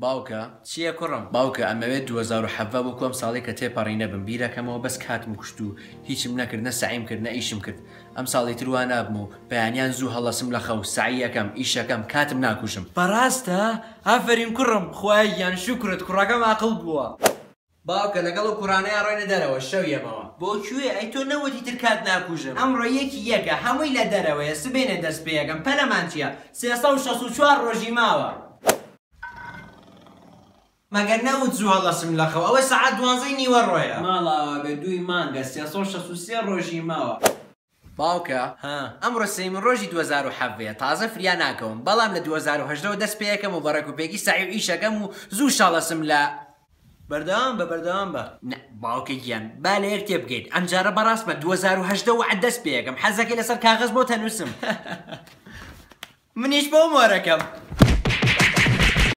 باوکە. چییە کوڕم؟ باوکە ئەمەوێت 2017 وەکو ئەم ساڵەی کە تێپەڕی نەبم، بیرەکەمەوە بەس کاتم کوشت و هیچم نەکرد، نە سەعیم کرد نە ئیشم کرد، ئەم ساڵی تر وا نابم و بەیانیان زوو هەڵەسم لە خەو، سەعی ئەکەم، ئیشەکەم، کاتم ناکوژم. بەڕاستە؟ ئافەرین کوڕم، خوایە گیان شوکرت کوڕەکەم ئاقڵ بووە. باوکە لەگەڵ ئەو کوڕانەیا ڕۆینە دەرەوە، شەو یەمەوە. بۆ کوێ؟ ئەی تۆ نەوتی تر کات ناکوژم. ئەمڕۆ یەکی یەکە، هەمووی لە دەرەوەیە، سبەینێ دەست پێ ئەکەم، پەلەمان چییە؟ 364 ڕۆژی ماوە. مەگەر نەوت زوو هەڵەسم لە خەو، ئەوە سەعات دوانزەی نیوەڕۆیە. ماڵئاوا بێ دووی مانگە، 363 ڕۆژی ماوە. باوکە ها. ئەمڕۆ سێیەمین ڕۆژی 2017 تازە فریا ناکەوم، بەڵام لە 2018 وە دەست پێ ئەکەم و بە ڕێک و پێکی سەعی و ئیشەکەم و زوو شەڵەسم لە. بەردەوام بە، بەردەوام بە. نا باوکە گیان با لە یەک تێبگەین، ئەمجارە بەڕاستمە 2018 وەعد دەست پێ ئەکەم، حەزەکەی لەسەر کاغەز بۆت ئەنووسم. منیش بۆ مۆرەکەم.